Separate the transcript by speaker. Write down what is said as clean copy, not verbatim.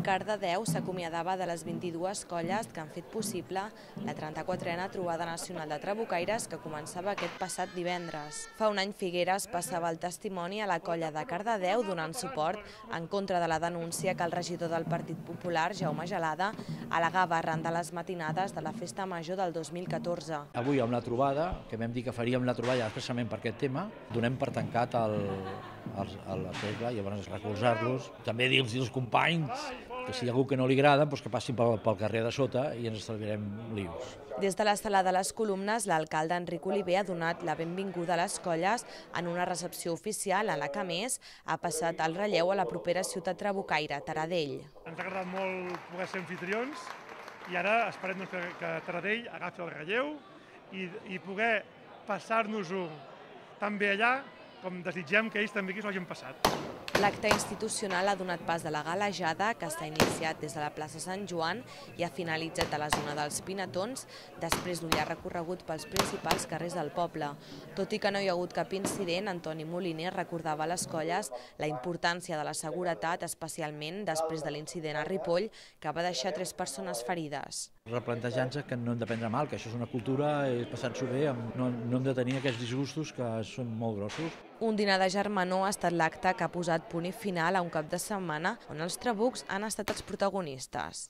Speaker 1: Cardedeu s'acomiadava de les 22 colles que han fet possible la 34a trobada nacional de trabucaires que començava aquest passat divendres. Fa un any Figueres passava el testimoni a la colla de Cardedeu donant suport en contra de la denúncia que el regidor del Partit Popular, Jaume Gelada, al·legava arran de les matinades de la Festa Major del 2014.
Speaker 2: Avui amb la trobada, que vam dir que faríem la trobada expressament per aquest tema, donem per tancat el segle, llavors recolzar-los. També dir-los als companys que si hi ha algú que no li agrada, doncs que passin pel carrer de sota i ens estalviarem lius.
Speaker 1: Des de la sala de les columnes, l'alcalde Enric Oliver ha donat la benvinguda a les colles en una recepció oficial en la que, a més, ha passat el relleu a la propera ciutat trabucaire, Taradell.
Speaker 3: Ens ha agradat molt poder ser anfitrions i ara esperem que Taradell agafi el relleu i poder passar-nos-ho tan bé allà com desitgem que ells també aquí s'ho hagin passat.
Speaker 1: L'acte institucional ha donat pas a la galejada, que s'ha iniciat des de la plaça Sant Joan i ha finalitzat a la zona dels Pinatons, després d'un llarg recorregut pels principals carrers del poble. Tot i que no hi ha hagut cap incident, Antoni Moliner recordava a les colles la importància de la seguretat, especialment després de l'incident a Ripoll, que va deixar 3 persones ferides.
Speaker 2: Replantejar-nos que no hem de prendre mal, que això és una cultura, és passar-s'ho bé, no hem de tenir aquests disgustos que són molt grossos.
Speaker 1: Un dinar de germanor ha estat l'acte que ha posat punt i final a un cap de setmana on els trabucs han estat els protagonistes.